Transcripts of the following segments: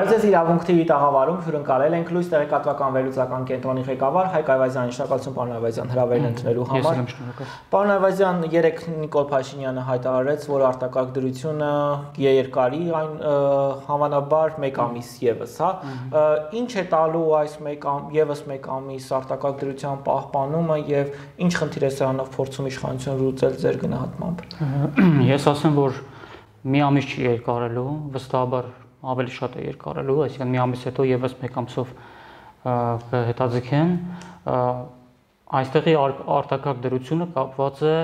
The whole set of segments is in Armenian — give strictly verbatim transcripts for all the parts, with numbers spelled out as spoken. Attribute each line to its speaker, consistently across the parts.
Speaker 1: Բարև ձեզ իրավունք T V տաղավարում հյուրընկալել ենք լույս տեղեկատվական վերլուծական կենտրոնի ղեկավար Հայկ Այվազյանի, շնորհակալություն պարոն Այվազյան հրավերն ընդունելու համար։ Պարոն Այվազյան, երեկ Նիկոլ Փաշինյանը հայտարարեց, որ արտակարգ դրությունը երկարի այն հավանաբար մեկ ամիս եւս, հա։ Ինչ է տալու այս մեկ եւս մեկ ամիս արտակարգ դրության պահպանումը եւ ինչ խնդիր է սրանով փորձում իշխանությունը լուծել ձեր գնահատմամբ։
Speaker 2: Ես ասեմ, որ մի ամիս չի երկարելու, վստահաբար ավելի շատ է երկարելու, այսինքն մի ամիս հետո եւս մեկ ամսով կհետաձգեն։ Այստեղի արտակարգ դրությունը կապված է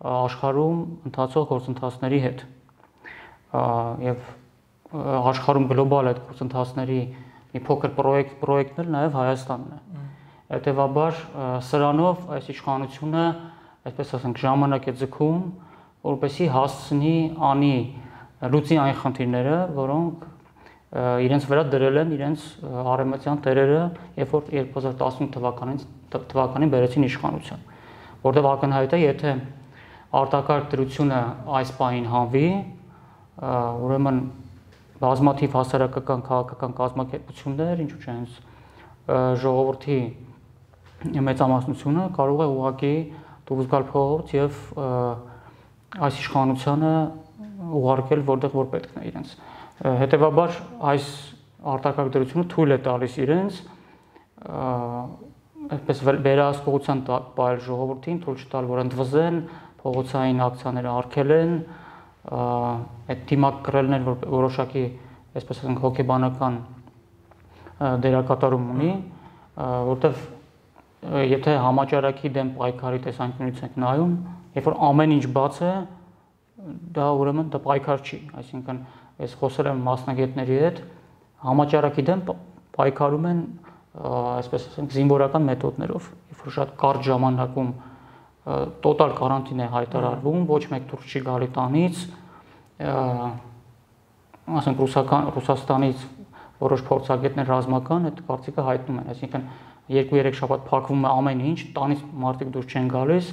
Speaker 2: աշխարհում ընթացող գործընթացների հետ եւ աշխարհում գլոբալ այդ գործընթացների մի փոքր պրոյեկտ պրոյեկտն էլ նաեւ Հայաստանն է։ Հետևաբար սրանով այս իշխանությունը, այսպես ասենք, ժամանակ է ձգում, որպեսզի հասցնի անի լուծի այն խնդիրները, որոնք իրենց վրա դրել են իրենց արևմտյան տերերը, երբ որ երկու հազար տասնութ թվականին թվականին բերեցին իշխանության, որտեղ ակնհայտ է, եթե արտակարգ դրությունը այս պահին հանվի, ուրեմն բազմաթիվ հասարակական քաղաքական կազմակերպություններ, ինչու՞ չէ հենց ժողովրդի մեծամասնությունը կարող է ուղղակի դուրս գալ փողոց եւ այս իշխանությանը ուղարկել որտեղ որ պետք է իրենց։ Հետևաբար այս արտակարգ դրությունը թույլ է տալիս իրենց այսպես վերահսկողության տալ ժողովրդին, թույլ չտալ, որ ընդվզեն, փողոցային ակցիաները արգելեն, այդ դիմակ կրելն որ որոշակի, այսպես ասենք, հոգեբանական դերակատարում ունի, որտեղ եթե համաճարակի դեմ պայքարի տեսանկյունից ենք նայում, երբ որ ամեն ինչ բաց է, դա ուրեմն դա պայքար չի, այսինքն ես խոսել եմ մասնագետների հետ, համաճարակի դեմ պայքարում են, այսպես ասենք, զինվորական մեթոդներով, երբ որ շատ կարճ ժամանակում տոտալ կարանտին է հայտարարվում, ոչ մեկ դուրս չի գալի տանից, ասենք ռուսական Ռուսաստանից որոշ փորձագետներ ռազմական այդ կարծիքը հայտնում են, այսինքն երկու-երեք շաբաթ փակվում է ամեն ինչ, տանից մարդիկ դուրս չեն գալիս,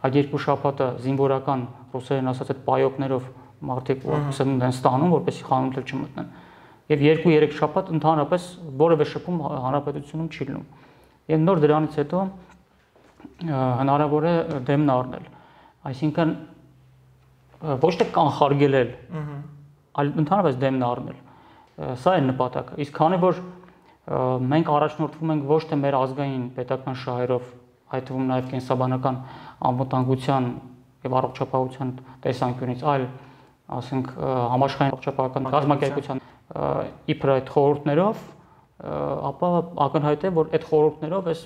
Speaker 2: այդ երկու շաբաթը զինվորական ռուսերեն ասած այդ պայոկներով մարդիկ սնունդ են ստանում, որպեսզի խանութ չմտնեն։ Եվ երկու-երեք շաբաթ ընդհանրապես որևէ շփում հանրապետությունում չի լինում։ Եվ նոր դրանից հետո հնարավոր է դեմն առնել։ Այսինքն ոչ թե կանխարգելել, այլ ընդհանրապես դեմն առնել։ Սա է նպատակը։ Իսկ քանի որ մենք առաջնորդվում ենք ոչ թե մեր ազգային պետական շահերով, այդ թվում նաև կենսաբանական անվտանգության եւ առողջապահության տեսանկյունից, այլ ասենք համաշխարհային առողջապահական կազմակերպության իբր այդ խորհուրդներով, ապա ակնհայտ է, որ այդ խորհուրդներով այս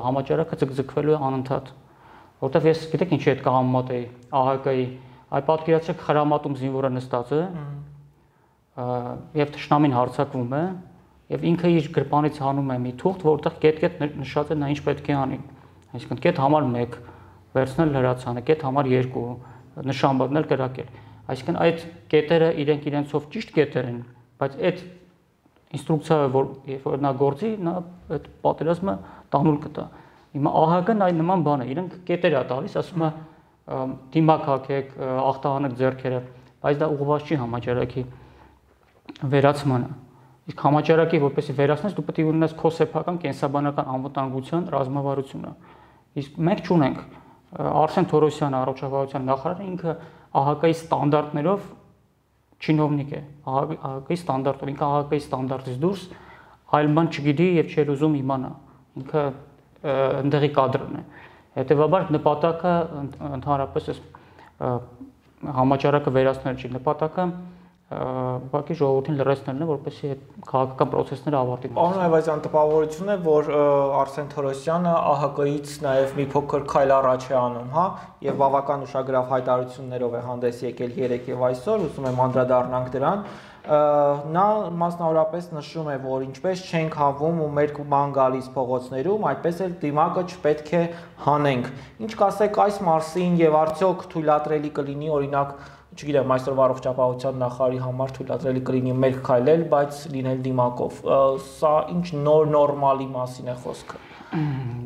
Speaker 2: համաճարակը ձգձգվելու է անընդհատ, որտեղ ես գիտեք ինչի հետ կհամեմատ էի ԱՀԿ-ի, այ պատկերացրեք խրամատում զինվորը նստած է եւ թշնամին հարձակվում է եւ ինքը իր գրպանից հանում է մի թուղթ, որտեղ կետ-կետ նշած է նա ինչ պետք է անի, այսինքն կետ համար մեկ վերցնել հրացանը, կետ համար երկու նշան բռնել, կրակել, այսինքն այդ կետերը իրենք իրենցով ճիշտ կետեր են, բայց այդ ինստրուկցիա, որ երբ որ նա գործի, նա այդ պատերազմը տանուլ կտա։ Հիմա ԱՀԿ-ն այն նման բան է, իրենք կետեր է տալիս, ասում է դիմակ հագեք, ախտահանեք ձեռքերը, բայց դա ուղղված չի համաճարակի վերացմանը։ Իսկ համաճարակի որպեսզի վերացնես, դու պետք է ունենաս քո սեփական կենսաբանական անվտանգության ռազմավարությունը։ Իսկ մենք չունենք։ Արսեն Թորոսյանը, առողջապահության նախարարը, ինքը ԱՀԿ-ի ստանդարտներով չինովնիկ է, ԱՀԿ-ի ստանդարտով, ինքը ԱՀԿ-ի ստանդարտից դուրս այլ բան չգիտի եւ չի ուզում իմանա, ինքը ընդեղի կադրն է։ Հետևաբար նպատակը ընդհանրապես այս համաճարակը վերացնել չի, նպատակը ուղղակի ժողովրդին լրացնելն է, որպեսզի այդ քաղաքական process-ները ավարտի։
Speaker 1: Պարոն Այվազյան, տպավորություն է, որ Արսեն Թորոսյանը ԱՀԿ-ից նաև մի փոքր քայլ առաջ է անում, հա, եւ բավական ուշագրավ հայտարարություններով է հանդես եկել երեկ եւ այսօր, ուզում եմ անդրադառնանք դրան։ Նա մասնավորապես նշում է, որ ինչպես չենք հանվում ու մեր ման գալիս փողոցներում, այդպես էլ դիմակը չպետք է հանենք։ Ինչ կասեք այս մասին եւ արդյոք թույլատրելի կլինի, օրինակ, չգիտեմ, այսօրվա առողջապահության նախարարի համար թույլատրելի կլինի մեկ քայլել, բայց լինել դիմակով։ Սա ինչ նոր նորմալի մասին է խոսքը։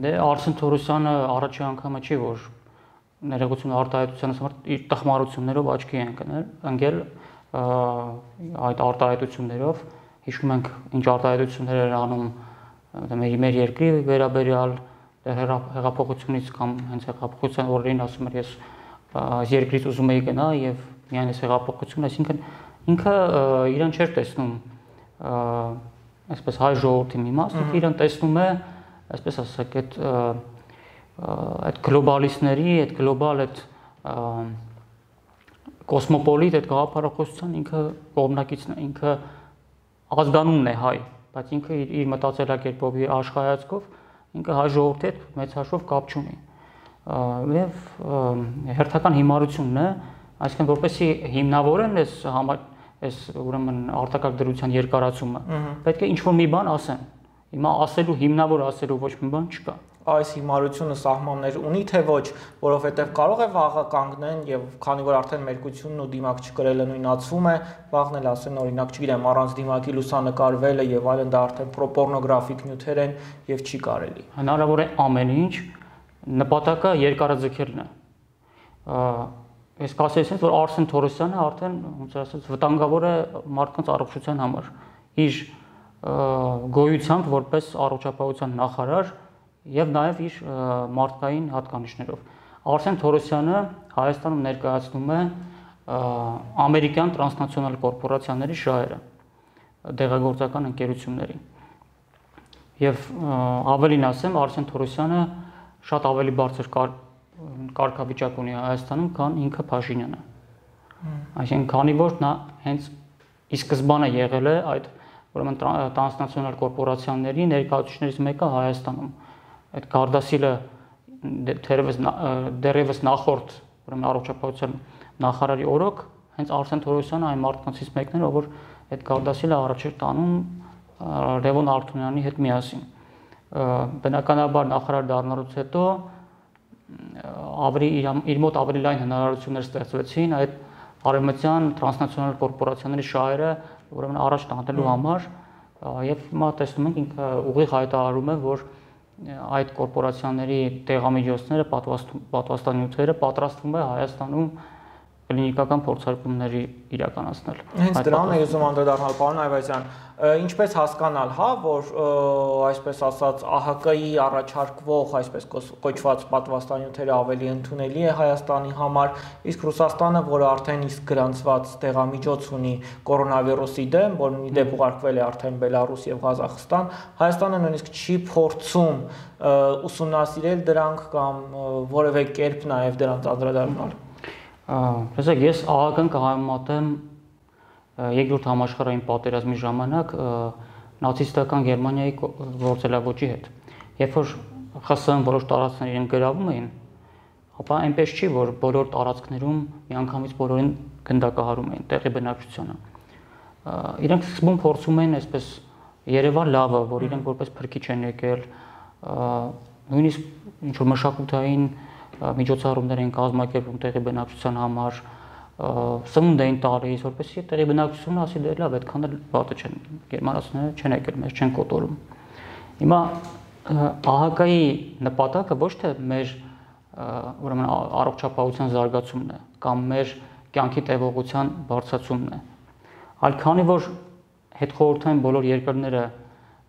Speaker 2: Դե Արսեն Թորոսյանը առաջի անգամը չի, որ ներողություն արտահայտության համար իր տխմարություններով աչքի է ընկնել, ընկել այդ արտահայտություններով, հիշում ենք ինչ արտահայտություններ էր անում մեր մեր երկրի վերաբերյալ հեղափոխությունից կամ հենց հեղափոխության օրերին ասում էր ես երկրից ուզում էի գնա եւ միայն այս հեղափոխությունը, այսինքն ինքը իրեն չէր տեսնում այսպես հայ ժողովրդի մի մասը, իրեն տեսնում է, այսպես ասած, այդ այդ գլոբալիստների, այդ գլոբալ այդ կոսմոպոլիտ այդ գաղափարախոսության ինքը կողմնակիցն է, ինքը ազգանունն է հայ, բայց ինքը իր, իր մտածելակերպով, իր աշխարհայացքով ինքը հայ ժողովրդի հետ մեծ հաշվով կապ չունի։ Եվ հերթական հիմարությունն է, այսինքն որպեսզի հիմնավորեն այս համար այս ուրեմն արտակարգ դրության երկարացումը, պետք է ինչ-որ մի բան ասեն։ Հիմա ասելու հիմնավոր ասելու ոչ մի բան չկա։
Speaker 1: Այս հիմարությունը սահմաններ ունի թե ոչ, որովհետև կարող է վաղը կանգնեն եւ քանի որ արդեն մերկությունն ու դիմակ չկրելը նույնացվում է, վաղն էլ ասեն օրինակ, չգիտեմ, առանց դիմակի լուսանկարվելը եւ այլն դա արդեն պորնոգրաֆիկ նյութեր են եւ չի կարելի։
Speaker 2: Հնարավոր է ամեն ինչ, նպատակը երկարաձգելն է։ Ես կասեի, որ Արսեն Թորոսյանը արդեն, ոնց ասած, վտանգավոր է մարդկանց առողջության համար։ Իր գոյությամբ որպես առողջապահության նախարար եւ նաեւ իր մարդկային հատկանիշներով։ Արսեն Թորոսյանը Հայաստանում ներկայացնում է ամերիկյան տրանսնացիոնալ կորպորացիաների շահերը, դեղագործական ընկերությունների։ Եվ ավելին ասեմ, Արսեն Թորոսյանը շատ ավելի բարձր կարգավիճակ ունի Հայաստանում, քան ինքը Փաշինյանը։ Այսինքն, քանի որ նա հենց ի սկզբանե եղել է այդ ուրեմն տրանսնացիոնալ կորպորացիաների ներկայացուցիչներից մեկը Հայաստանում։ Այդ Գարդասիլը դերևս նախորդ ուրեմն առողջապահության նախարարի օրոք հենց Արսեն Թորոսյանը այն մարդկանցից մեկն էր, որ այդ Գարդասիլը առաջ էր տանում Լևոն Արտունյանի հետ միասին։ Բնականաբար նախարար դառնալուց հետո ավելի իր մոտ ավելի լայն հնարավորություններ ստեղծվեցին այդ արևմտյան տրանսնացիոնալ կորպորացիաների շահերը ուրեմն առաջ տանելու համար եւ հիմա տեսնում ենք ինքը ուղիղ հայտարարում է, որ այդ կորպորացիաների տեղամիջոցները, պատվաստանյութերը պատրաստվում է Հայաստանում կլինիկական փորձարկումների իրականացնել։
Speaker 1: Հենց դրան է ուզում անդրադառնալ, պարոն Այվազյան, ինչպես հասկանալ, հա, որ այսպես ասած ԱՀԿ-ի առաջարկվող այսպես կոչված պատվաստանյութերը ավելի ընդունելի է Հայաստանի համար, իսկ Ռուսաստանը, որը արդեն իսկ գրանցված տեղամիջոց ունի կորոնավիրուսի դեմ, որն ի դեպ ուղարկվել է արդեն Բելարուս եւ Ղազախստան, Հայաստանը նույնիսկ չի փորձում ուսումնասիրել դրանք կամ որևէ կերպ նաեւ դրանց անդրադառնալ։
Speaker 2: Տեսեք, ես ԱՀԿ-ն կհամեմատեմ երկրորդ համաշխարհային պատերազմի ժամանակ նացիստական Գերմանիայի գործելավոճի հետ։ Երբ որ ԽՍՀՄ որոշ տարածքներ իրեն գրավում էին, ապա այնպես չի, որ բոլոր տարածքներում միանգամից բոլորին գնդակահարում էին տեղի բնակչությանը։ Իրենք սկզբում փորձում էին այսպես Երևան լավը, որ իրենք որպես փրկիչ են եկել, նույնիսկ ինչ որ մշակութային միջոցառումներ են կազմակերպում տեղի բնակչության համար, սնունդ էին տալիս, որպեսզի տեղի բնակչությունը ասի դե լավ, այդքան էլ վատը չեն, գերմանացիները չեն եկել, մեզ չեն կոտորում։ Հիմա ԱՀԿ-ի նպատակը ոչ թե մեր ուրեմն առողջապահության զարգացումն է կամ մեր կյանքի տևողության բարձրացումն է, այլ քանի որ հետխորհրդային բոլոր երկրները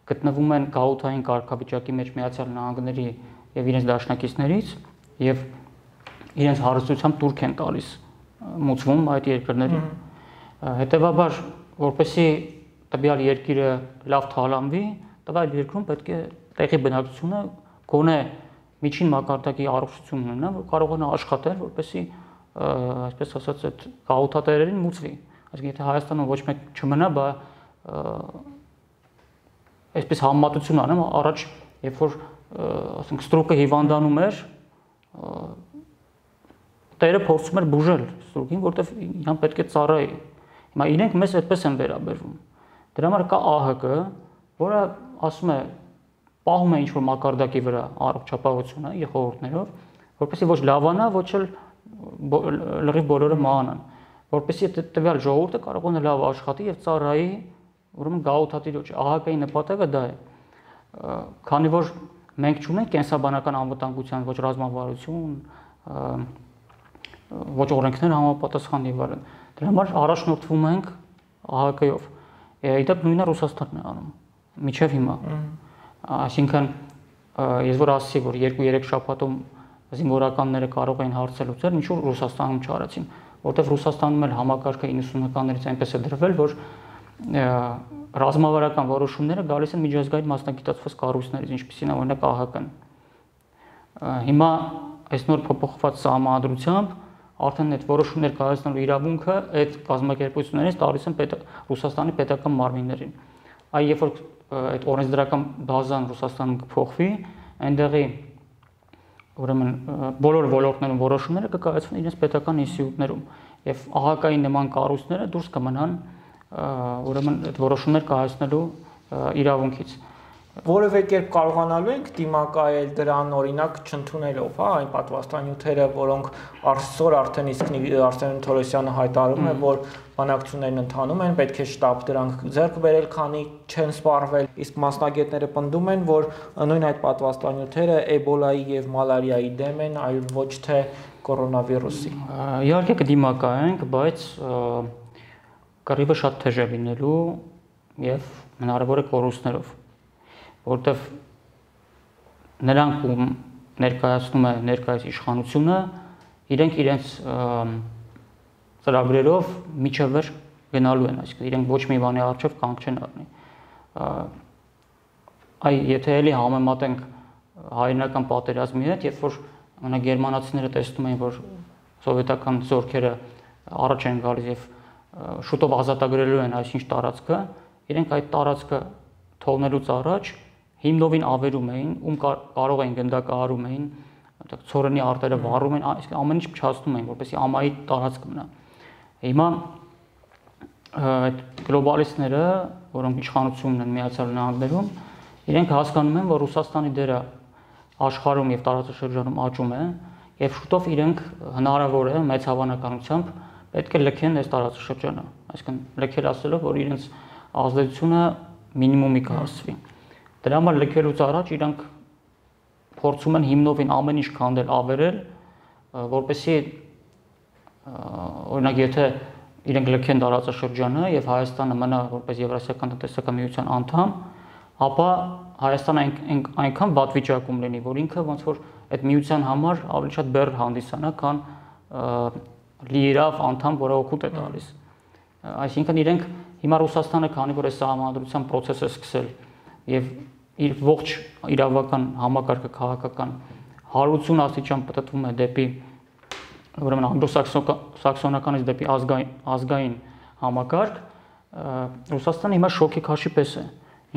Speaker 2: գտնվում են գաղութային կարգավիճակի մեջ Միացյալ Նահանգների եւ իրենց դաշնակիցներից եւ իրենց հարստությամբ տուրք են տալիս մուծվում այդ երկրներին։ Հետևաբար, որպեսզի տվյալ երկիրը լավ թալանվի, տվյալ երկրում պետք է տեղի բնակչությունը գոնե միջին մակարդակի առողջություն ունենա, որ կարողանա աշխատել, որպեսզի այսպես ասած այդ գաղութատերերին մուծվի։ Այսինքն եթե Հայաստանում ոչ մեկ չմնա, բա այսպես համեմատություն անեմ, առաջ երբ որ ասենք ստրուկը հիվանդանում էր, տերը փորձում էր բուժել ստրուկին, որտեվ իրան պետք է ծառայի։ Հիմա իրենք մեզ այդպես են վերաբերվում։ Դրա համար կա ԱՀԿ, որը ասում է պահում է ինչ-որ մակարդակի վրա առողջապահությունը եղողորտներով, որպեսզի ոչ լավանա, ոչ էլ լրիվ բոլորը մահանան, որպեսզի տվյալ ժողովուրդը կարողանա լավ աշխատի եւ ծառայի ուրեմն գաղութատիրոջ։ ԱՀԿ-ի նպատակը դա է։ Քանի որ մենք չունենք կենսաբանական անվտանգության ոչ ռազմավարություն, ոչ օրենքներ համապատասխան եւ այլն։ Դրա համար առաջնորդվում ենք A H K-ով։ Իդեպ նույնը Ռուսաստանն է անում մինչև հիմա։ Այսինքն ես որ ասացի, որ երկու-երեք շաբաթում զինվորականները կարող էին հարցել ուծել, ինչու Ռուսաստանում չարեցին, որտեղ Ռուսաստանում էլ համակարգը իննսունականներից այնպես է դրվել, որ ռազմավարական որոշումները գալիս են միջազգային մասնագիտացված կառույցներից, ինչպիսին է օրինակ A H K-ն։ Հիմա այս նոր փոփոխված սահմանադրությամբ արդեն այդ որոշումներ կայացնելու իրավունքը այդ կազմակերպություններից տալիս են Ռուսաստանի պետական մարմիններին։ Այ երբ որ այդ օրենսդրական բազան Ռուսաստանում կփոխվի, այնտեղի ուրեմն բոլոր ոլորտներում որոշումները կկայացվեն իրենց պետական ինստիտուտներում եւ A H K-ի նման կառույցները դուրս կմնան ուրեմն այդ որոշումներ կայացնելու իրավունքից։
Speaker 1: Որևէ կերպ կարողանալու ենք դիմակայել դրան օրինակ չընդունելով, հա, այն պատվաստանյութերը, որոնք այսօր արդեն իսկ Արսեն Թորոսյանը հայտարարում է, որ բանակցություններն ընթանում են, պետք է շտապ դրանք ձեռք բերել, քանի չեն սպառվել, իսկ մասնագետները պնդում են, որ նույն այդ պատվաստանյութերը Էբոլայի եւ մալարիայի դեմ են, այլ ոչ թե կորոնավիրուսի։
Speaker 2: Իհարկե կդիմակայենք, բայց կռիվը շատ թեժ է լինելու եւ հնարավոր է կորուստներով, որտեվ նրանք ում ներկայացնում է ներկայիս իշխանությունը, իրենք իրենց ծրագրերով միջևեր գնալու են, այսինքն իրենք ոչ մի բանի առջև կանգ չեն առնի։ Այ եթե էլի համեմատենք հայրենական պատերազմի հետ, երբ որ մենակ գերմանացիները տեսնում էին, որ սովետական զորքերը առաջ են գալիս եւ շուտով ազատագրելու են այսինչ տարածքը, իրենք այդ տարածքը թողնելուց առաջ հիմնովին ավերում էին, ում կարող էին գնդակահարում էին, ցորենի արտերը վառում էին, այսինքն ամեն ինչ փչացնում էին, որպեսզի ամայի տարածք մնա։ Հիմա այդ գլոբալիստները, որոնք իշխանությունն են Միացյալ Նահանգներում, իրենք հասկանում են, որ Ռուսաստանի դերը աշխարհում եւ տարածաշրջանում աճում է, եւ շուտով իրենք հնարավոր է մեծ հավանականությամբ պետք է լքեն այս տարածաշրջանը, այսինքն լքել ասելով, որ իրենց ազդեցությունը մինիմումի կհասվի։ Դրա համար լքելուց առաջ իրանք փորձում են հիմնովին ամեն ինչ քանդել, ավերել, որպեսզի օրինակ եթե իրենք լքեն տարածաշրջանը եւ Հայաստանը մնա որպես Եվրասիական տնտեսական միության անդամ, ապա Հայաստանը այնքան վատ վիճակում լինի, որ ինքը ոնց որ այդ միության համար ավելի շատ բեռ հանդիսանա, քան լիիրավ անդամ, որը օգուտ է տալիս։ Այսինքն իրենք հիմա Ռուսաստանը, քանի որ այս սահմանադրության process է սկսել եւ իր ողջ իրավական համակարգը քաղաքական հարություն աստիճան պատտվում է դեպի ուրեմն անգլոսաքսոնականից դեպի ազգային ազգային համակարգ, Ռուսաստանը հիմա շոկի քաշի պես է։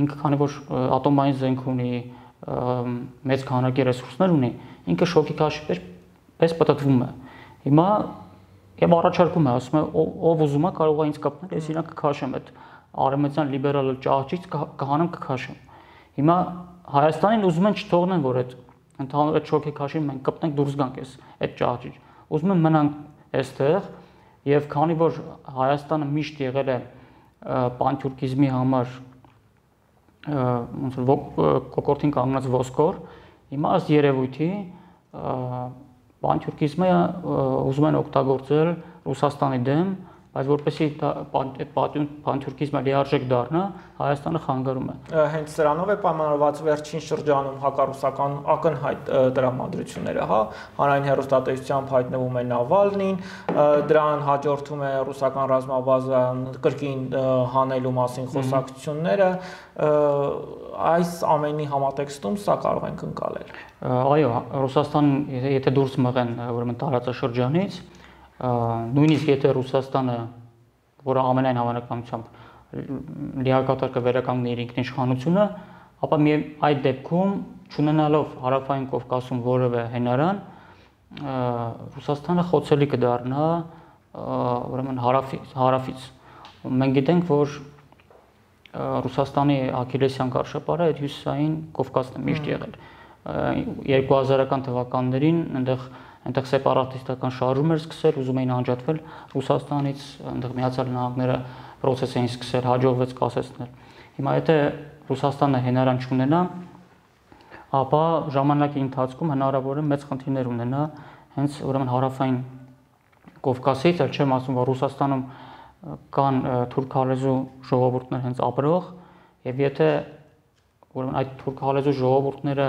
Speaker 2: Ինքը քանի որ ատոմային զենք ունի, մեծ քանակի ռեսուրսներ ունի, ինքը շոկի քաշի պես պատտվում է։ Հիմա եւ առաջարկում է, ասում է, ով ուզում է կարող է ինձ կապնել, ես իրանք կքաշեմ այդ արևմտյան լիբերալ ճահճից կհանեմ կքաշեմ։ Հիմա Հայաստանին ուզում են չթողնեն, որ այդ ընդհանուր այդ շոկի քաշին մենք կպնենք դուրս գանք այս այդ ճահճից։ Ուզում են մնանք այստեղ եւ քանի որ Հայաստանը միշտ եղել է պանթյուրքիզմի համար ոնց որ կոկորտին կանգնած ոսկոր, հիմա ըստ երևույթի պանթյուրքիզմը ուզում են օգտագործել Ռուսաստանի դեմ, բայց որպեսզի այդ պանթյուրքիզմը լիարժեք դառնա, Հայաստանը խանգարում է։
Speaker 1: Հենց սրանով է պայմանավորված վերջին շրջանում հակառուսական ակնհայտ տրամադրությունները, հա, հանրային հեռուստատեսությամբ հայտնվում է Նավալնին, դրան հաջորդում է ռուսական ռազմաբազան կրկին հանելու մասին խոսակցությունները, այս ամենի համատեքստում սա կարող ենք ընկալել։
Speaker 2: Այո, Ռուսաստանն եթե դուրս մղեն ուրեմն տարածաշրջանից, նույնիսկ եթե Ռուսաստանը, որը ամենայն հավանականությամբ լիակատար կվերականգնի իր ինքնիշխանությունը, ապա այդ դեպքում չունենալով Հարավային Կովկասում որևէ հենարան, Ռուսաստանը խոցելի կդառնա ուրեմն հարավից, հարավից։ Մենք գիտենք, որ Ռուսաստանի աքիլեսյան կառշապարը այդ հյուսիսային Կովկասն է միշտ եղել։ երկու հազարական թվականներին այնտեղ այնտեղ սեպարատիստական շարժում էր սկսել, ուզում էին անջատվել Ռուսաստանից, այնտեղ Միացյալ Նահանգները process էին սկսել, հաջողվեց կասեցնել։ Հիմա եթե Ռուսաստանը հենարան չունենա, ապա ժամանակի ընթացքում հնարավոր է մեծ խնդիրներ ունենա հենց ուրեմն հարավային Կովկասից, այլ չեմ ասում, որ Ռուսաստանում կան թուրքալեզու ժողովուրդներ հենց ապրող, եւ եթե ուրեմն այդ թուրքալեզու ժողովուրդները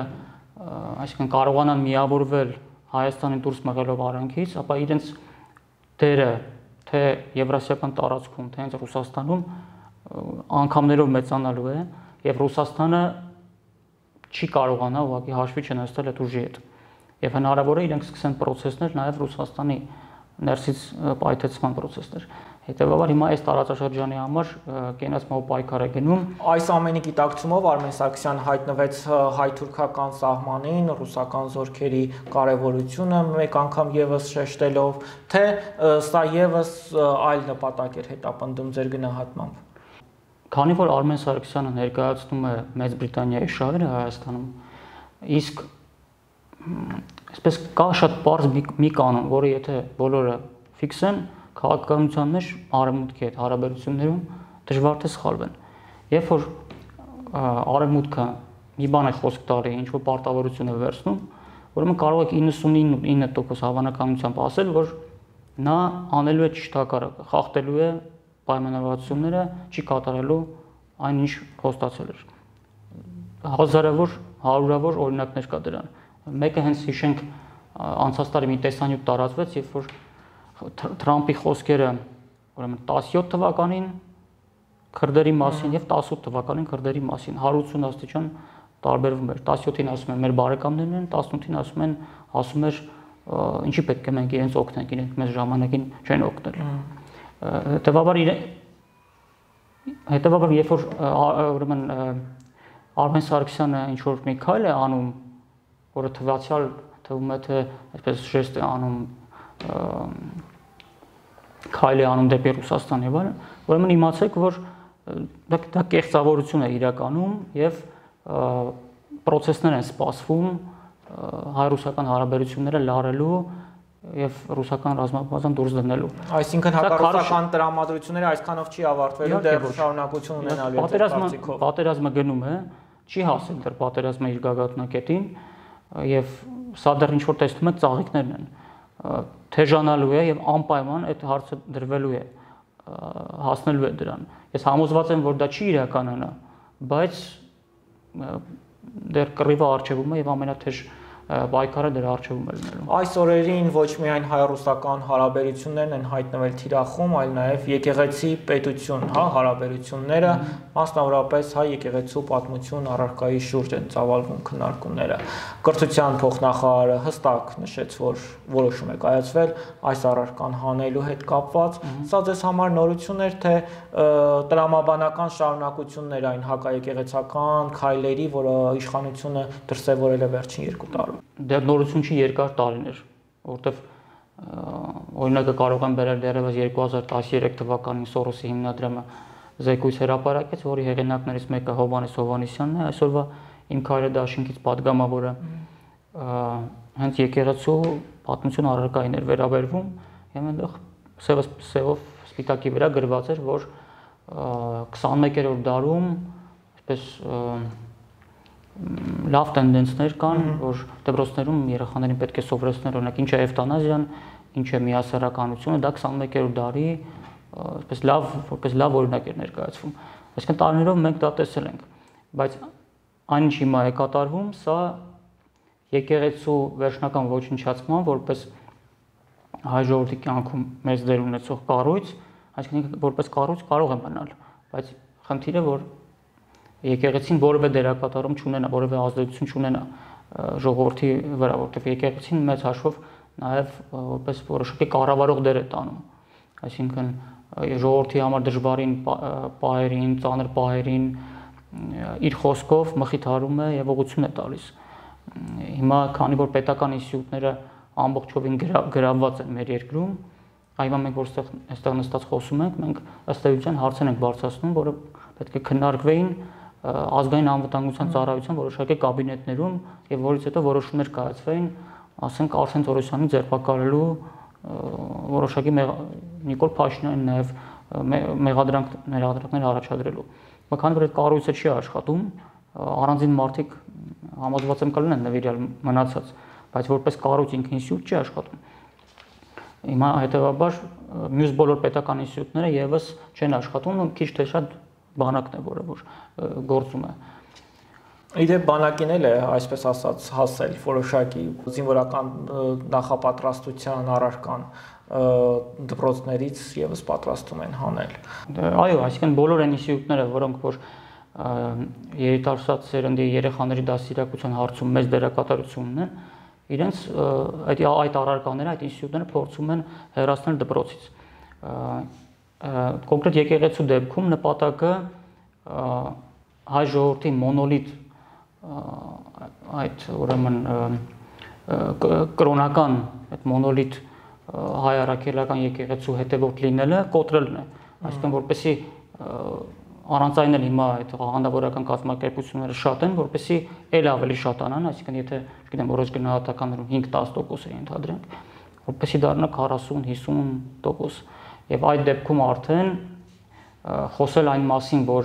Speaker 2: այսինքն կարողանան միավորվել Հայաստանի դուրս մղելով արանքից, ապա իրենց դերը թե եվրասիական տարածքում, թե հենց Ռուսաստանում անգամներով մեծանալու է, եւ Ռուսաստանը չի կարողանա ուղղակի հաշվի չնստել այդ ուժի հետ։ Եվ հնարավոր է իրենք սկսեն process-ներ նաև Ռուսաստանի ներսից պայթեցման process-ներ։ Հետևաբար հիմա այս տարածաշրջանի համար կենացմով պայքար է գնում։
Speaker 1: Այս ամենի գիտակցումով Արմեն Սարգսյանը հայտնվեց հայ-թուրքական սահմանին, ռուսական զորքերի կարևորությունը մեկ անգամ եւս շեշտելով, թե սա եւս այլ նպատակ էր հետապնդում ձեր գնահատմամբ։
Speaker 2: Քանի որ Արմեն Սարգսյանը ներկայացնում է Մեծ Բրիտանիայի շահերը Հայաստանում, իսկ այսպես կա շատ պարզ մի կանոն, որը եթե բոլորը ֆիքսեն, քաղաքականության մեջ արևմուտքի հետ հարաբերություններում դժվար թե սխալվեն։ Երբ որ արևմուտքը մի բան է խոսք տալի, ինչ որ պարտավորություն է վերցնում, ուրեմն կարող եք իննսունինը տոկոս հավանականությամբ ասել, որ նա անելու է ճիշտ հակառակը, խախտելու է պայմանավորվածությունները, չի կատարելու այն ինչ խոստացել էր։ Հազարավոր, հարյուրավոր օրինակներ կա դրան։ Մեկը հենց հիշենք անցած տարի մի տեսանյութ տարածվեց, երբ որ Թրամփի խոսքերը ուրեմն տասնյոթ թվականին քրդերի մասին եւ տասնութ թվականին քրդերի մասին հարյուր ութսուն աստիճան տարբերվում էր։ տասնյոթին ասում են մեր բարեկամներն են, տասնութին ասում են, ասում էր ինչի պետք է մենք իրենց օգնենք, իրենք մեզ ժամանակին չեն օգնել։ Հետևաբար հետևաբար երբ որ ուրեմն Արմեն Սարգսյանը ինչ որ մի քայլ է անում, որը թվացial թվում է թե այսպես ժեստ է անում, քայլ է անում դեպի Ռուսաստան եւ այլն, ուրեմն իմացեք, որ դա կեղծավորություն է իրականում եւ process-ներ են սպասվում հայ-ռուսական հարաբերությունները լարելու եւ ռուսական ռազմաբազան դուրս դնելու։
Speaker 1: Այսինքն հակառուսական տրամադրությունները այսքանով չի ավարտվելու, դեռ շարունակություն ունենալու է
Speaker 2: պատերազմը, պատերազմը գնում է, չի հասել դեռ պատերազմը իր գագաթնակետին եւ սա դեռ ինչ որ տեսնում եք ծաղիկներն են։ Թեժանալու է եւ անպայման այդ հարցը դրվելու է, հասնելու է դրան։ Ես համոզված եմ, որ դա չի իրականանա, բայց դեռ կռիվը արժևում է եւ ամենաթեժ պայքարը դրա առջևում է լինելու։
Speaker 1: Այս օրերին ոչ միայն հայ-ռուսական հարաբերություններն են հայտնվել թիրախում, այլ նաև եկեղեցի պետություն, հա, հարաբերությունները, մասնավորապես հայ եկեղեցու պատմություն առարկայի շուրջ են ծավալվում քննարկումները։ Կրթության փոխնախարարը հստակ նշեց, որ որոշում է կայացվել այս առարկան հանելու հետ կապված։ Սա ձեզ համար նորություն էր, թե տրամաբանական շարունակություններ այն հակաեկեղեցական քայլերի, որը իշխանությունը դրսևորել է վերջին երկու տարում։
Speaker 2: Դա նորություն չի, երկար տարիներ, որովհետև օրինակը կարող եմ բերել դեռևս երկու հազար տասներեք թվականին Սորոսի հիմնադրամը զեկույց հրապարակեց, որի հեղինակներից մեկը Հովհաննես Հովհաննիսյանն է, այսօրվա իմ քայլը դաշինքից падգամավորը հենց եկեղեցու պատմություն առարկային էր վերաբերվում, եւ այնտեղ սևը սևով սպիտակի վրա գրված էր, որ քսանմեկերորդ դարում այսպես լավ տենդենսներ կան, որ դպրոցներում երեխաներին պետք է սովորեցնել, օրինակ ինչ է էվտանազիան, ինչ է միասեռականությունը, դա քսանմեկերորդ դարի այսպես լավ, որպես լավ օրինակ էր ներկայացվում։ Այսինքն տարիներով մենք դա տեսել ենք, բայց այն ինչ հիմա է կատարվում, սա եկեղեցու վերջնական ոչնչացման, որպես հայ ժողովրդի կյանքում մեծ դեր ունեցող կառույց, այսինքն որպես կառույց կարող է մնալ, բայց խնդիրը որ եկեղեցին որևէ դերակատարում չունենա, որևէ ազդեցություն չունենա ժողովրդի վրա, որտեղ եկեղեցին մեծ հաշվով նաև որպես որոշակի կառավարող դեր է տանում։ Այսինքն ժողովրդի համար դժվարին պահերին, ծանր պահերին իր խոսքով մխիթարում է եւ ուղղություն է տալիս։ Հիմա քանի որ պետական ինստիտուտները ամբողջովին գրավված են մեր երկրում, այո մենք որ այստեղ նստած խոսում ենք, մենք ըստ էության հարցեր ենք բարձրացնում, որը պետք է քննարկվեին ազգային անվտանգության ծառայության որոշակի կաբինետներում եւ որից հետո որոշումներ կայացվեին, ասենք Արսեն Թորոսյանի ձերբակալելու որոշակի Նիկոլ Փաշինյանի նաեւ մեղադրանք ներադրումներ առաջադրելու։ Քանի որ այդ կառույցը չի աշխատում, առանձին մարդիկ համոզված եմ կլինեն նվիրյալ մնացած, բայց որպես կառույց ինքնին ինստիտուտ չի աշխատում։ Հիմա հետեւաբար մյուս բոլոր պետական ինստիտուտները եւս չեն աշխատում ու քիչ թե շատ բանակն է, որը որ գործում է։
Speaker 1: Իդեպ բանակին էլ է, այսպես ասած, հասել որոշակի զինվորական նախապատրաստության առարկան դպրոցներից եւս պատրաստում են հանել։
Speaker 2: Այո, այսինքն բոլոր այն ինստիտուտները, որոնք որ երիտասարդ սերնդի երեխաների դաստիարակության հարցում մեծ դերակատարություն ունեն, իրենց այդ այդ առարկաները, այդ ինստիտուտները փորձում են հեռացնել դպրոցից։ Կոնկրետ եկեղեցու դեպքում նպատակը հայ ժողովրդի մոնոլիտ այդ ուրեմն կրոնական այդ մոնոլիտ հայ առաքելական եկեղեցու հետևորդ լինելը կոտրելն է, այսինքն որպեսզի առանց այն էլ հիմա այդ հանդավորական կազմակերպությունները շատ են, որպեսզի ել ավելի շատանան, այսինքն եթե, չգիտեմ, որոշ գնահատականներում հինգ-տասը տոկոս է ընդհանրենք, որպեսզի դառնա քառասուն-հիսուն տոկոս։ Եվ այդ դեպքում արդեն խոսել այն մասին, որ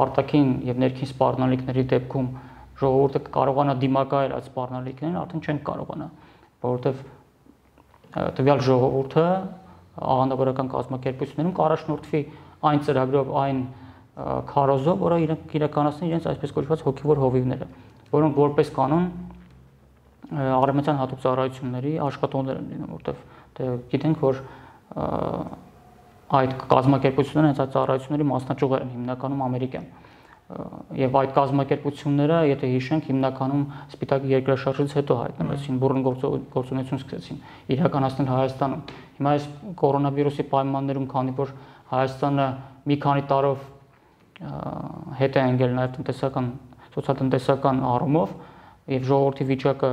Speaker 2: արտաքին եւ ներքին սպառնալիքների դեպքում ժողովուրդը կարողանա դիմակայել այդ սպառնալիքներին, արդեն չեն կարողանա, որովհետեւ տվյալ ժողովուրդը հանդավորական կազմակերպություններում կառաջնորդվի այն ծրագրով, այն քարոզով, որը իրենք իրականացնեն իրենց այսպես կոչված հոգևոր հովիվները, որոնք որպես կանոն արևմտյան հատուկ ծառայությունների աշխատողներ են լինում, որտեղ գիտենք, որ այդ կազմակերպությունները հենց այդ ծառայությունների մասնաճյուղեր են հիմնականում ամերիկյան։ Եվ այդ կազմակերպությունները, եթե հիշենք, հիմնականում Սպիտակ երկրաշարժից հետո հայտնվեցին, բուռն գործունեություն սկսեցին իրականացնել Հայաստանում։ Հիմա այս կորոնավիրուսի պայմաններում, քանի որ Հայաստանը մի քանի տարով հետ է ընկել նաև տնտեսական, սոցիալ-տնտեսական առումով եւ ժողովրդի վիճակը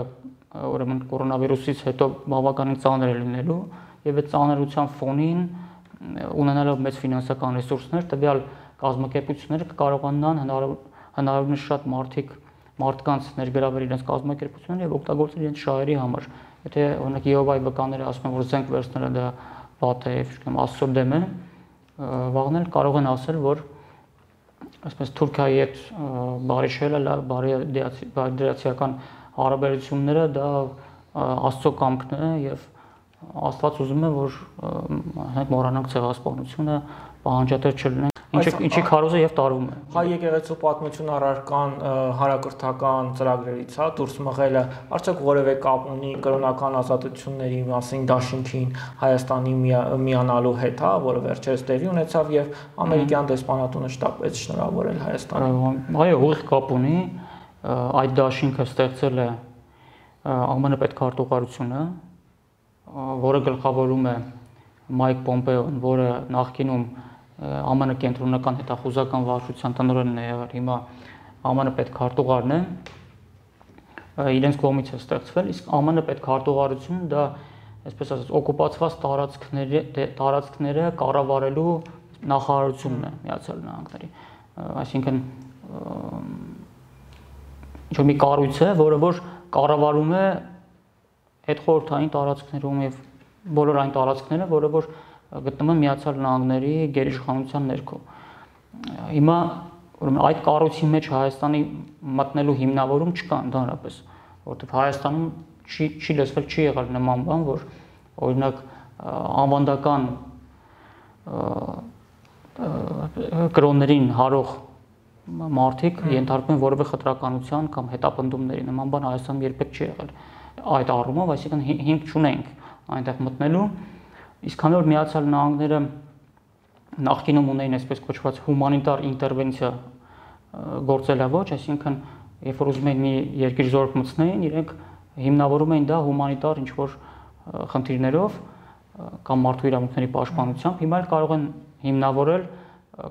Speaker 2: ուրեմն կորոնավիրուսից հետո բավականին ծանր է լինելու եւ այդ ծանրության ֆոնին ունենալով մեծ ֆինանսական ռեսուրսներ, տվյալ կազմակերպությունները կկարողանան հնարավորինս շատ մարդիկ մարդկանց ներգրավել իրենց կազմակերպությունները եւ օգտագործել իրենց շահերի համար։ Եթե օրինակ Եհովայի վկաները ասում են, որ զենք վերցնելը դա վատ է, չգիտեմ, Աստծո դեմ է, վաղնել կարող են ասել, որ այսպես Թուրքիայի հետ բարիշելը, բարիդրացիական հարաբերությունները դա Աստծո կամքն է եւ Աստված ուզում է, որ մենք մոռանանք ցեղասպանությունը, պահանջատեր չլինենք, ինչի քարոզը եւ տարվում է։
Speaker 1: Հայ եկեղեցու պատմություն առարկան հանրակրթական ծրագրերից, հա, դուրս մղելը, արդյոք որևէ կապ ունի կրոնական ազատությունների մասին դաշինքին Հայաստանի միանալու հետ, հա, որը վերջերս տեղի ունեցավ եւ ամերիկյան դեսպանատունը շտապեց շնորհավորել Հայաստանին։
Speaker 2: Այո, ուղիղ կապ ունի, այդ դաշինքը ստեղծել է ԱՄՆ պետքարտուղարությունը, որը գլխավորում է Մայք Պոմպեոն, որը նախկինում ԱՄՆ կենտրոնական հետախուզական վարչության տնօրենն է եղել, հիմա ԱՄՆ պետքարտուղարն է, իրենց կողմից է ստեղծվել, իսկ ԱՄՆ պետքարտուղարությունը դա, այսպես ասած, օկուպացված տարածքները, տարածքները կառավարելու նախարարությունն է Միացյալ Նահանգների, այսինքն ինչ-որ մի կառույց է, որը որ կառավարում է հետխորհրդային տարածքներում եւ բոլոր այն տարածքները, որը որ գտնվում են Միացյալ Նահանգների գերիշխանության ներքո։ Հիմա ուրեմն այդ կառույցի մեջ Հայաստանի մտնելու հիմնավորում չկա ընդհանրապես, որովհետեւ Հայաստանում չի չի լսվել, չի եղել նման բան, որ օրինակ անվանդական կրոններին հարող մարդիկ ենթարկվում են որևէ խտրականության կամ հետապնդումների, նման բան Հայաստանում երբեք չի եղել։ Այդ առումով, այսինքն հիմք չունենք այնտեղ մտնելու, իսկ քանի որ Միացյալ Նահանգները նախկինում ունեին այսպես կոչված հումանիտար ինտերվենցիա գործելավոճ, այսինքն երբ որ ուզում էին մի երկիր զորք մտցնեին, իրենք հիմնավորում էին դա հումանիտար ինչ-որ խնդիրներով կամ մարդու իրավունքների պաշտպանությամբ, հիմա էլ կարող են հիմնավորել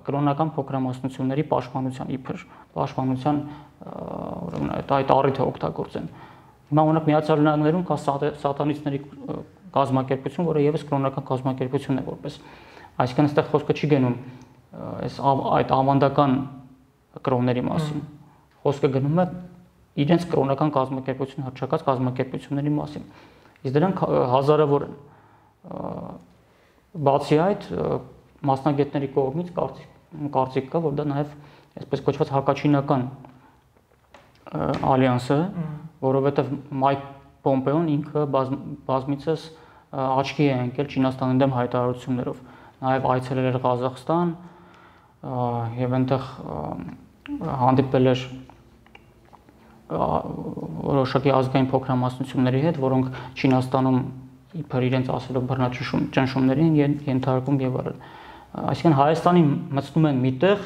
Speaker 2: կրոնական փոքրամասնությունների պաշտպանության իբր պաշտպանության ուրեմն այդ առիթը օգտագործեն։ Հիմա օրինակ Միացյալ Նահանգներում կա սատանիստների կազմակերպություն, որը եւս կրոնական կազմակերպություն է որպես, այսինքն այստեղ խոսքը չի գնում այս այդ ավանդական կրոնների մասին, խոսքը գնում է իրենց կրոնական կազմակերպություն հռչակած կազմակերպությունների մասին, իսկ դրանք հազարավոր են։ Բացի այդ, մասնագետների կողմից կարծիք կա, որ դա նաեւ այսպես կոչված հակաչինական ալյանս է, որովհետեւ Մայք Պոմպեոն ինքը բազմիցս աչքի է ընկել Չինաստանի դեմ հայտարարություններով, նաև այցելել էր Ղազախստան եւ այնտեղ հանդիպել էր որոշակի ազգային փոքրամասնությունների հետ, որոնք Չինաստանում իբր իրենց ասելով բռնաճնշումներին ենթարկում եւ այլն։ Այսինքն Հայաստանի մտցնում են միտեղ,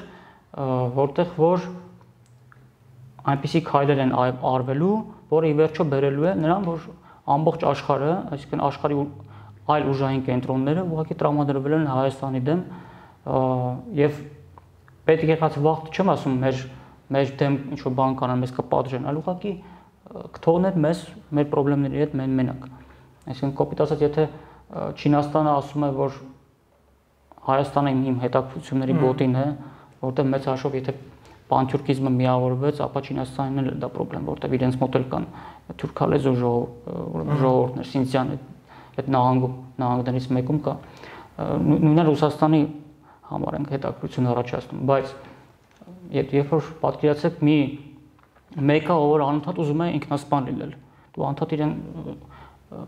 Speaker 2: որտեղ որ այնպիսի քայլեր են արվելու, որը ի վերջո բերելու է նրան, որ ամբողջ աշխարհը, այսինքն աշխարհի այլ ուժային կենտրոնները ուղղակի տրամադրվել են Հայաստանի դեմ եւ պետք եղած վաղ չեմ ասում մեր մեր դեմ ինչ որ բան կանան, մեզ կպատժեն, այլ ուղղակի կթողնեն մեզ մեր խնդիրների հետ մեն մենակ։ Այսինքն կոպիտ ասած, եթե Չինաստանը ասում է, որ Հայաստանը իմ հետաքրքրությունների գոտին է, որտեղ մեծ հաշվով եթե պանթյուրքիզմը միավորվեց, ապա Չինաստանին էլ դա խնդրեմ, որտեղ իրենց մոտ էլ կան թուրքալեզու ժողովուրդներ, Սինցյան այդ նահանգում, նահանգներից մեկում կա։ Նույնիսկ Ռուսաստանի համար ենք հետաքրքրություն առաջացնում, բայց երբ որ պատկերացեք մի մեկը, ով անընդհատ ուզում է ինքնասպան լինել, դու անընդհատ իրեն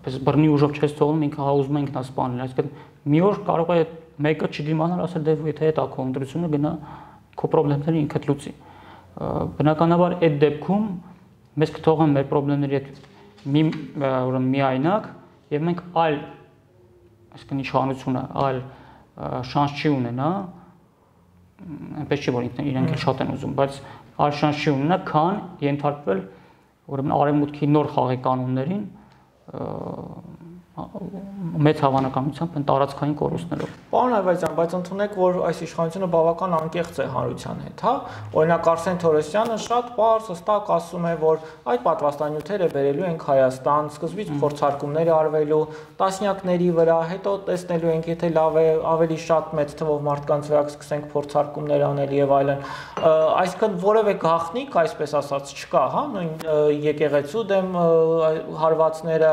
Speaker 2: պես բռնի ուժով չես թողնում, ինքը հա ուզում է ինքնասպան լինել, այսինքն մի օր կարող է մեկը չդիմանալ, ասել դե եթե դա քո ընտրությունը գնա քո խնդիրները ինքդ լուծի։ Բնականաբար այդ դեպքում մեզ կթողեն մեր խնդիրների հետ մի ուրեմն միայնակ եւ մենք այլ այսինքն իշխանությունը այլ շանս չի ունենա, այնպես չի որ իրենք էլ շատ են ուզում, բայց այլ շանս չի ունենա, քան ենթարկվել ուրեմն արևմուտքի նոր խաղի կանոններին մեծ հավանականությամբ են տարածքային կորուստներով։
Speaker 1: Պարոն Այվազյան, բայց ընդունեք, որ այս իշխանությունը բավական անկեղծ է հանրության հետ, հա։ Օրինակ Արսեն Թորոսյանը շատ պարզ հստակ ասում է, որ այդ պատվաստանյութերը բերելու ենք Հայաստան, սկզբից փորձարկումներ արվելու տասնյակների վրա, հետո տեսնելու ենք, եթե լավ է, ավելի շատ մեծ թվով մարդկանց վրա կսկսենք փորձարկումներ անել եւ այլն։ Այսինքն որևէ գաղտնիք, այսպես ասած, չկա, հա, նույն եկեղեցու դեմ հարվածները,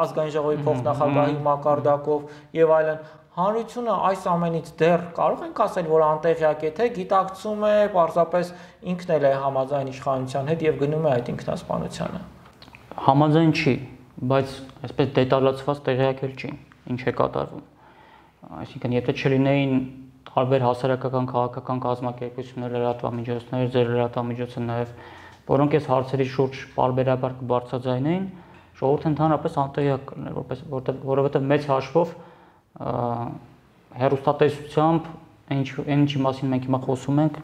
Speaker 1: ազգային ժողովի փոխնախագահի մակարդակով եւ այլն, հանրությունը այս ամենից դեռ կարող ենք ասել, որ անտեղյակ է, թե գիտակցում է, պարզապես ինքն էլ է համաձայն իշխանության հետ եւ գնում է այդ ինքնասպանությանը։
Speaker 2: Համաձայն չի, բայց այսպես դետալացված տեղյակ էլ չի, ինչ է կատարվում։ Այսինքն, եթե չլինեին տարբեր հասարակական քաղաքական կազմակերպություններ, լրատվամիջոցներ, ձեր լրատվամիջոցը նաեւ, որոնք այս հարցերի շուրջ պարբերաբար կբարձրաձայնեին, ժողովուրդը ընդհանրապես անտեղյակ կլիներ, որպես որովհետև մեծ հաշվով հեռուստատեսությամբ ինչ ինչի մասին մենք հիմա խոսում ենք,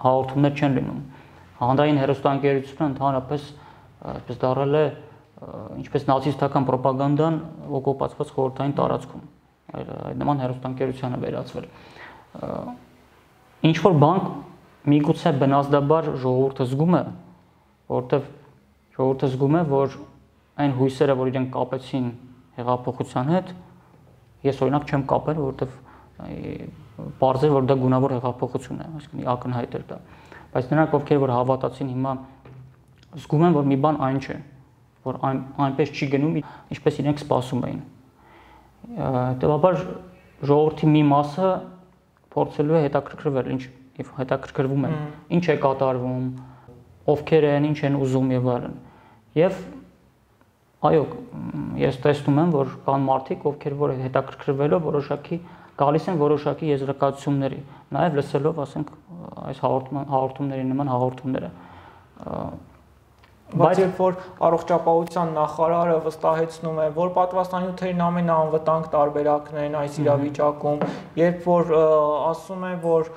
Speaker 2: հաղորդումներ չեն լինում։ Հանրային հեռուստաընկերությունը ընդհանրապես այսպես դառել է ինչպես նացիստական ռոպագանդան օկուպացված խորհրդային տարածքում։ Այդ նման հեռուստաընկերությանը վերածվել։ Ինչ որ բան միգուցե բնազդաբար ժողովուրդը զգում է, որովհետև ժողովուրդը զգում է, որ այն հույսերը, որ իրենք կապեցին հեղափոխության հետ, ես օրինակ չեմ կապել, որովհետև պարզ է, որ դա գունավոր հեղափոխություն է, այսինքն ակնհայտ էր դա։ Բայց նրանք, ովքեր որ հավատացին, հիմա զգում են, որ մի բան այն չէ, որ այն այնպես չի գնում, ինչպես իրենք սպասում էին։ Հետևաբար ժողովրդի մի մասը փորձելու է հետաքրքրվել, ինչ եւ հետաքրքրվում են, ինչ է կատարվում, ովքեր են, ինչ են ուզում եւ այլն։ Եվ այո, ես տեսնում եմ, որ կան մարդիկ, ովքեր որ հետաքրքրվելով որոշակի գալիս են որոշակի եզրակացությունների, նաև լսելով, ասենք, այս հաղորդումների նման հաղորդումները։
Speaker 1: Բայց երբ որ առողջապահության նախարարը վստահեցնում է, որ պատվաստանյութերն ամենաանվտանգ տարբերակն են այս իրավիճակում, երբ որ ասում է, որ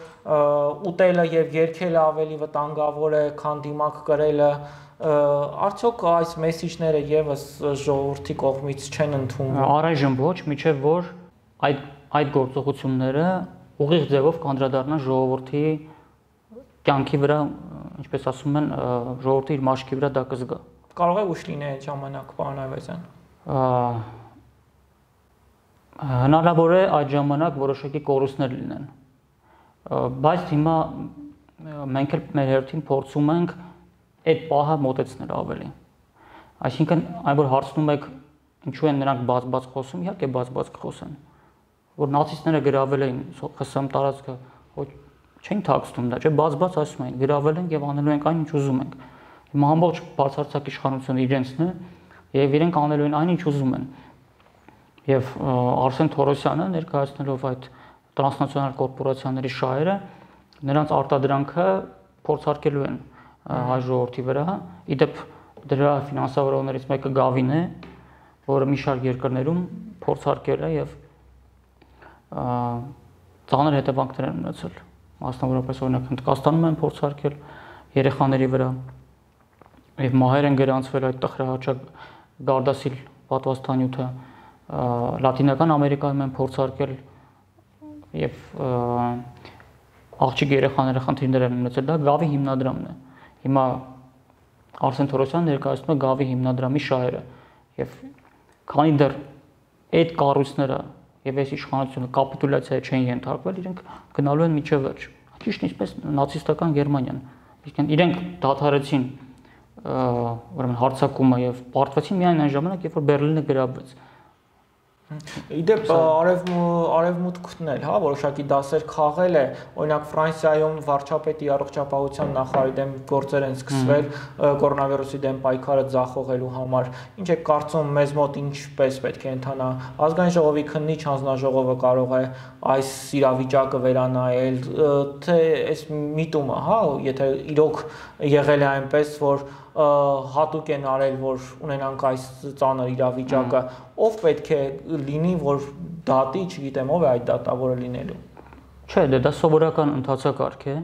Speaker 1: ուտելը եւ երգելը ավելի վտանգավոր է, քան դիմակ կրելը, արդյոք այս մեսիջները եւս ժողովրդի կողմից չեն ընդունվում։
Speaker 2: Առայժմ ոչ, միջև որ այդ այդ գործողությունները ուղիղ ձևով կանդրադառնան ժողովրդի կյանքի վրա, ինչպես ասում են, ժողովրդի իր մաշկի վրա դա կզգա։
Speaker 1: Կարող է ուշ լինի այդ ժամանակ, պարոն Այվազյան։
Speaker 2: Հնարավոր է այդ ժամանակ որոշակի կորուստներ լինեն։ Բայց հիմա մենք էլ մեր հերթին փորձում ենք այդ պահը մոտեցնել ավելի։ Այսինքն, այն որ հարցնում եք ինչու են նրանք բաց-բաց խոսում, իհարկե բաց-բաց կխոսեն։ Որ նացիստները գրավել էին ԽՍՀՄ տարածքը, ոչ չեն թաքցնում դա, չէ, բաց-բաց ասում են, գրավել են եւ անելու ենք այն ինչ ուզում ենք։ Հիմա ամբողջ բացարձակ իշխանությունը իրենցն է եւ իրենք անելու են այն ինչ ուզում են։ Եվ Արսեն Թորոսյանը ներկայացնելով այդ տրանսնացիոնալ կորպորացիաների շահերը, նրանց արտադրանքը փորձարկելու են հայ ժողովրդի վրա։ Իդեպ դրա ֆինանսավորողներից մեկը Գավին է, որը մի շարք երկրներում փորձարկել է եւ ծանր հետևանքներ են ունեցել։ Մասնավորապես օրինակ Հնդկաստանում են փորձարկել երեխաների վրա եւ մահեր են գրանցվել այդ տխրահաճակ Gardasil պատվաստանյութը, Լատինական Ամերիկայում են փորձարկել եւ աղջիկ երեխաները խնդիրներ են ունեցել, դա Գավի հիմնադրամն է։ Հիմա Արսեն Թորոսյանը ներկայացնում է Գավի հիմնադրամի շահերը եւ քանի դեռ այդ կառույցները եւ այս իշխանությունը կապիտուլյացիայի չեն ենթարկվել, իրենք գնալու են միջև վերջ։ Ճիշտ ինչպես նացիստական Գերմանիան։ Իսկ իրենք դադարեցին ուրեմն հարձակումը եւ պարտվեցին միայն այն ժամանակ, երբ որ Բերլինը գրավվեց։
Speaker 1: Իդեպ արևմուտքն էլ, հա, որոշակի դասեր խաղել է, օրինակ Ֆրանսիայում վարչապետի առողջապահության նախարարի դեմ գործեր են սկսվել կորոնավիրուսի դեմ պայքարը ձախողելու համար։ Ինչ է կարծում մեզ մոտ ինչպես պետք է ընթանա։ Ազգային ժողովի քննիչ հանձնաժողովը կարող է այս իրավիճակը վերանայել, թե այս միտումը, հա, եթե իրոք եղել է այնպես, որ հատուկ են արել, որ ունենանք այս ծանր իրավիճակը, ով պետք է լինի, որ դատի, չգիտեմ, ով է այդ դատավորը լինելու։
Speaker 2: Չէ, դա սովորական ընթացակարգ է,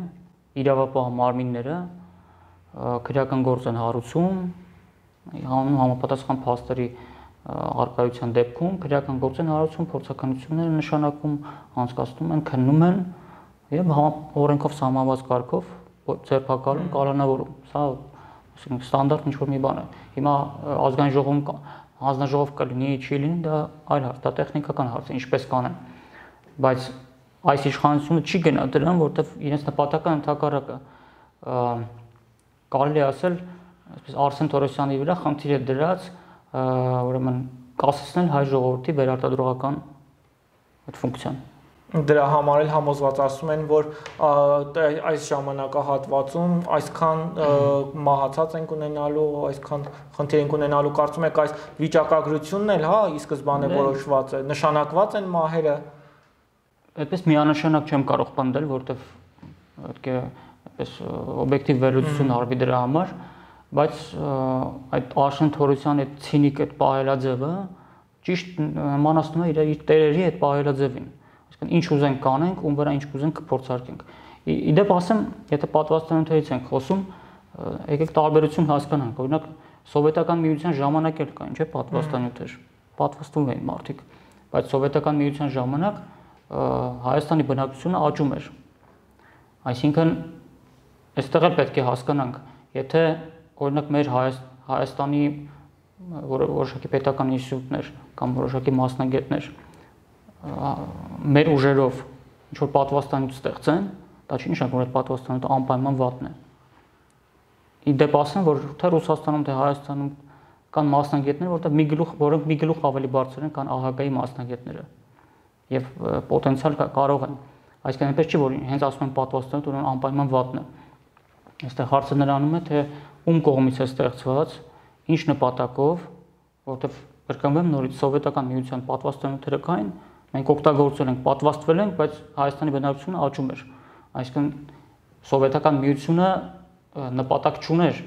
Speaker 2: իրավապահ մարմինները քրեական գործ են հարուցում, համապատասխան փաստերի առկայության դեպքում քրեական գործ են հարուցում, փորձականություններ են նշանակում, անցկացնում են, քննում են եւ օրենքով սահմանված կարգով ձերբակալում, կալանավորում։ Սա ստանդարտ ինչ-որ մի բան է։ Հիմա ազգային ժողովում հանձնաժողով կլինի, չի լինի, դա այլ հարց, դա տեխնիկական հարց է, ինչպես կանեն։ Բայց այս իշխանությունը չի գնա դրան, որովհետև իրենց նպատակը ընդհակառակը կարելի ասել, այսպես Արսեն Թորոսյանի վրա խնդիր է դրած, ուրեմն կասեցնել հայ ժողովրդի վերարտադրողական այդ ֆունկցիան։
Speaker 1: Դրա համար էլ համոզված ասում են, որ այս ժամանակահատվածում այսքան մահացած ենք ունենալու, այսքան խնդիր ենք ունենալու, կարծում եք այս վիճակագրությունն էլ, հա, ի սկզբանե որոշված է, նշանակված են մահերը։
Speaker 2: Այդպես միանշանակ չեմ կարող պնդել, որովհետև պետք է այդպես օբյեկտիվ վերլուծություն արվի դրա համար, բայց այդ Արսեն Թորոսյանի այդ ցինիկ այդ պահելաձևը ճիշտ մանացնում է իր տերերի այդ պահելաձևին։ Ինչ ուզենք կանենք, ում վրա ինչ կուզենք կփորձարկենք։ Իդեպ ասեմ, եթե պատվաստանյութերից ենք խոսում, եկեք տարբերություն հասկանանք։ Օրինակ սովետական միության ժամանակ էլ կային, չէ՞, պատվաստանյութեր։ Պատվաստվում էին մարդիկ, բայց սովետական միության ժամանակ Հայաստանի բնակչությունը աճում էր։ Այսինքն այստեղ էլ պետք է հասկանանք, եթե օրինակ մեր Հայաստանի որոշակի պետական ինստիտուտներ կամ որոշակի մասնագետներ մեր ուժերով ինչ-որ պատվաստանյութ ստեղծեն, դա չի նշանակում, որ այդ պատվաստանյութը անպայման վատն է։ Իդեպ ասեմ, որ թե Ռուսաստանում, թե Հայաստանում կան մասնագետներ, որտեղ մի գլուխ, որոնք մի գլուխ ավելի բարձր են, քան ԱՀԿ-ի մասնագետները եւ պոտենցիալ կարող են։ Այսինքն այնպես չի, որ հենց ասում են պատվաստանյութը ուրեմն անպայման վատն է։ Այստեղ հարցը նրանում է, թե ում կողմից է ստեղծված, ինչ նպատակով, որտեղ կրկնվեմ նորից սովետական միության պատվաստանյութերը կային, մենք օգտագործել ենք, պատվաստվել ենք, բայց Հայաստանի բնակչությունը աճում էր։ Այսինքն սովետական միությունը նպատակ չուներ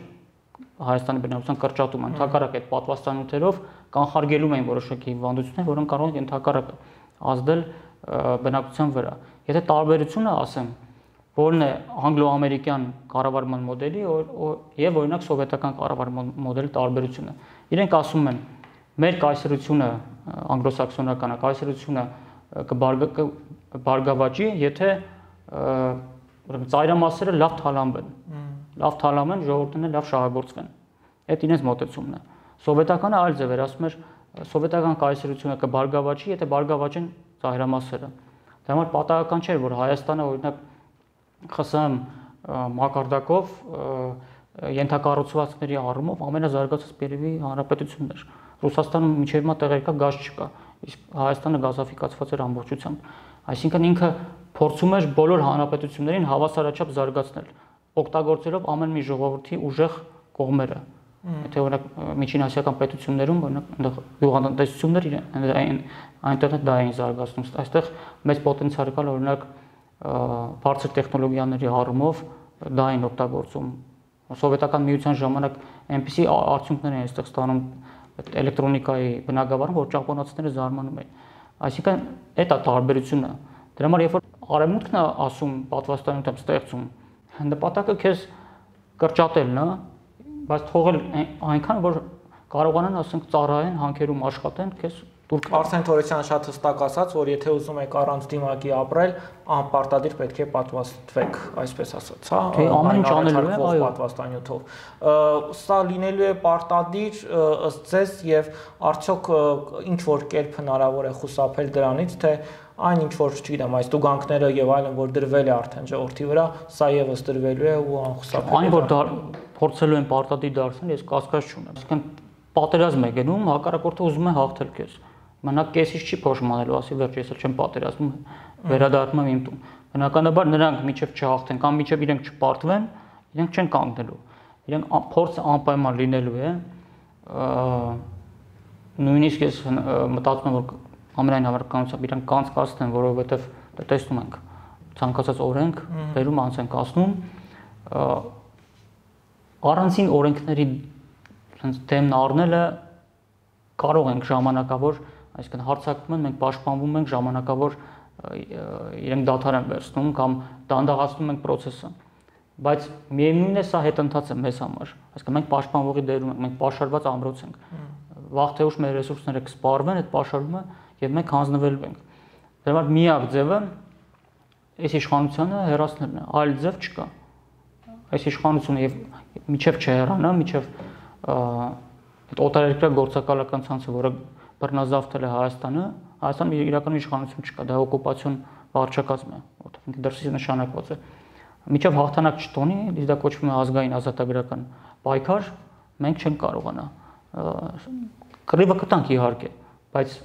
Speaker 2: Հայաստանի բնակչության կրճատումը, ընդհակառակը այդ պատվաստանյութերով կանխարգելում էին որոշակի հիվանդություններ, որոնք կարող են ընդհակառակը ազդել բնակչության վրա։ Եթե տարբերությունը ասեմ, որն է անգլո-ամերիկյան կառավարման մոդելի եւ օրինակ սովետական կառավարման մոդելի տարբերությունը։ Իրենք ասում են, մեր կայսրությունը անգլոսաքսոնական կայսրությունը կբարգավաճի, եթե ուրեմն ծայրամասերը լավ թալանվեն, լավ թալանվեն, ժողովուրդները լավ շահագործվեն։ Այդ իրենց մոտեցումն է։ Սովետականը այլ ձև էր, ասում էր սովետական կայսրությունը կբարգավաճի, եթե բարգավաճեն ծայրամասերը։ Դա համար պատահական չէր, որ Հայաստանը օրինակ ԽՍՀՄ մակարդակով ենթակառուցվածքների առումով ամենազարգացած երևի հանրապետությունն էր։ Ռուսաստանում մինչև հիմա տեղեր կա, գազ չկա, իսկ Հայաստանը գազաֆիկացված էր ամբողջությամբ։ Այսինքն ինքը փորձում էր բոլոր հանրապետություններին հավասարաչափ զարգացնել, օգտագործելով ամեն մի ժողովրդի ուժեղ կողմերը։ Եթե օրինակ միջին ասիական պետություններում օրինակ այնտեղ գյուղատնտեսություններ այնտեղ դա էին զարգացնում, այստեղ մեծ պոտենցիալ կա օրինակ բարձր տեխնոլոգիաների առումով դա են օգտագործում։ Սովետական միության ժամանակ այնպիսի արդյունքներ են այստեղ ստանում էլեկտրոնիկայի բնագավառում, որ ճապոնացիները զարմանում են։ Այսինքն դա է տարբերությունը։ Դրա համար երբ որ արևմուտքն է ասում պատվաստանյութ ստեղծում, նպատակը քեզ կրճատելն է, բայց թողել այնքան որ կարողանան ասենք ծառայեն, հանքերում աշխատեն, քեզ դուր
Speaker 1: Արսեն Թորոսյանը շատ հստակ ասաց, որ եթե ուզում եք առանց դիմակի ապրել, անպարտադիր պետք է պատվաստվեք, այսպես ասաց, հա,
Speaker 2: ամեն ինչ անելու է, այո,
Speaker 1: պատվաստանյութով։ Սա լինելու է պարտադիր ըստ ձեզ եւ արդյոք ինչ որ կերպ հնարավոր է խուսափել դրանից, թե այն ինչ որ, չգիտեմ, այս տուգանքները եւ այլն, որ դրվել է արդեն ժողովրդի վրա, սա եւս դրվելու է ու անխուսափելի։
Speaker 2: Այն որ փորձելու են պարտադիր դարձնել, ես կասկած չունեմ։ Այսինքն պատերազմ է գնում, հակառակորդը ուզում է հաղթել քեզ։ Մենակ կեսից չի փոշմանելու, ասի վերջ, ես էլ չեմ պատերազմում, վերադառնում եմ իմ տուն։ Բնականաբար նրանք միջև չհաղթեն կամ միջև իրենք չպարտվեն, իրենք չեն կանգնելու։ Իրենք փորձը անպայման լինելու է։ Նույնիսկ ես մտածում եմ, որ ամենայն հավանականությամբ իրենք կանցկացնեն, որովհետև տեսնում ենք ցանկացած օրենք բերում անց են կասնում, առանցին օրենքների դեմն առնելը կարող ենք ժամանակավոր, այսինքն հարձակվում են, մենք պաշտպանվում ենք ժամանակավոր իրենք դադար են վերցնում կամ դանդաղացնում ենք process-ը, բայց միևնույնն է սա հետընթաց է մեզ համար, այսինքն մենք պաշտպանողի դերում ենք, մենք պաշարված ամրոց ենք, վաղ թե ուշ մեր ռեսուրսները կսպառվեն այդ պաշարումը եւ մենք հանձնվելու ենք։ Դրա համար միակ ձևը այս իշխանությունը հեռացնելն է, այլ ձև չկա։ Այս իշխանությունը եւ միջև չհեռանա, միջև այդ օտարերկրյա գործակալական ցանցը, որը բռնազավթել է Հայաստանը, Հայաստանում իրականում իշխանություն չկա, դա օկուպացիոն վարչակազմ է, որտեղ դրսից նշանակված է։ Միջև հաղթանակ չտոնի, իսկ դա կոչվում է ազգային ազատագրական պայքար, մենք չենք կարողանա։ Կռիվը կտանք իհարկե, բայց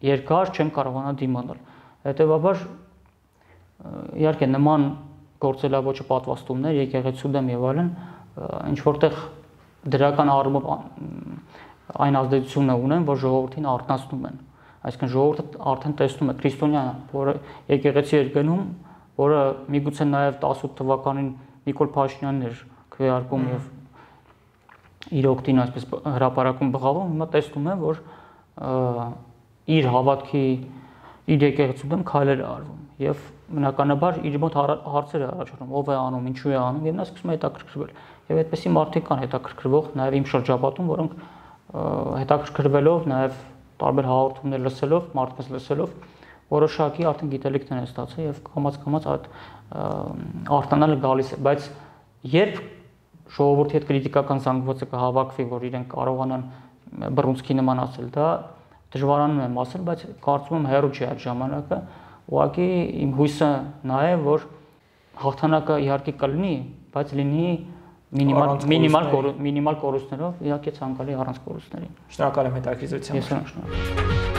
Speaker 2: երկար չենք կարողանա դիմանալ։ Հետևաբար իհարկե նման գործելավոճը պատվաստումներ, եկեղեցու դեմ եւ այլն, ինչ որտեղ դրական առումով այն ազդեցությունը ունեն, որ ժողովրդին արթնացնում են։ Այսինքն ժողովուրդը արդեն տեսնում է քրիստոնյա, որը եկեղեցի էր գնում, որը միգուցե նաև տասնութ թվականին Նիկոլ Փաշինյանն էր քվեարկում եւ իր օգտին այսպես հրապարակում բղավում, հիմա տեսնում է, որ իր հավատքի, իր եկեղեցու դեմ քայլեր է արվում եւ բնականաբար իր մոտ հարցեր է առաջանում, ով է անում, ինչու է անում եւ նա սկսում է հետաքրքրվել։ Եվ այդպեսի մարդիկ կան հետաքրքրվող նաև իմ շրջապատում, որոնք հետաքրքրվելով, նաև տարբեր հաղորդումներ լսելով, մարդկանց լսելով, որոշակի արդեն գիտելիքներ են ստացել եւ կամաց-կամաց այդ արտանալը գալիս է, բայց երբ ժողովրդի հետ քրիտիկական զանգվածը կհավաքվի, որ իրենք կարողանան բռունցքի նման ասել, դա դժվարանում եմ ասել, բայց կարծում եմ հեռու չի այդ ժամանակը, ուղղակի իմ հույսը նա է, որ հաղթանակը իհարկե կլինի, բայց լինի Մինիմալ մինիմալ մինիմալ կորուստներով, իհարկե ցանկալի առանց կորուստների։
Speaker 1: Շնորհակալ եմ հետաքրքրության։
Speaker 2: Ես շնորհակալ
Speaker 3: եմ։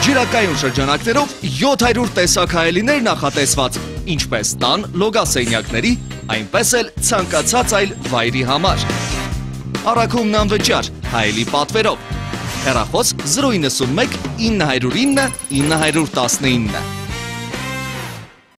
Speaker 3: Ջրակայուն շրջանակներով յոթ հարյուր տեսակ հայելիներ նախատեսված, ինչպես տան լոգասենյակների, այնպես էլ ցանկացած այլ վայրի համար։ Առաքումն անվճար, հայելի պատվերով։ Հեռախոս զրո իննսուն մեկ ինը հարյուր ինը ինը հարյուր տասնինը։